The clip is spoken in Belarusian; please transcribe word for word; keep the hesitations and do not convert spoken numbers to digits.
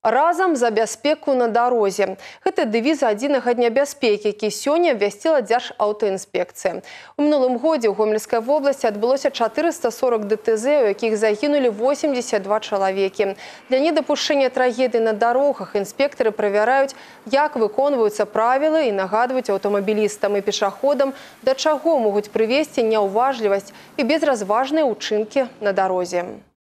Разам за бяспеку на дарозе. Гэта дэвіз адзінага дня бяспекі, які сёння абвясціла Дзяржаўтаінспекцыя. У мінулым годзе ў Гомельскай вобласці адбылося чатырыста сорок дэ тэ зэ, у якіх загінулі восемьдесят два чалавекі. Для недапушчэння трагедый на дарогах інспектары правяраюць, як выконваюцца правілы і нагадваюць аўтамабілістам і пешаходам, да чаго могуць прывесці няўважлівасць і безразважныя ўчынкі на дарозе.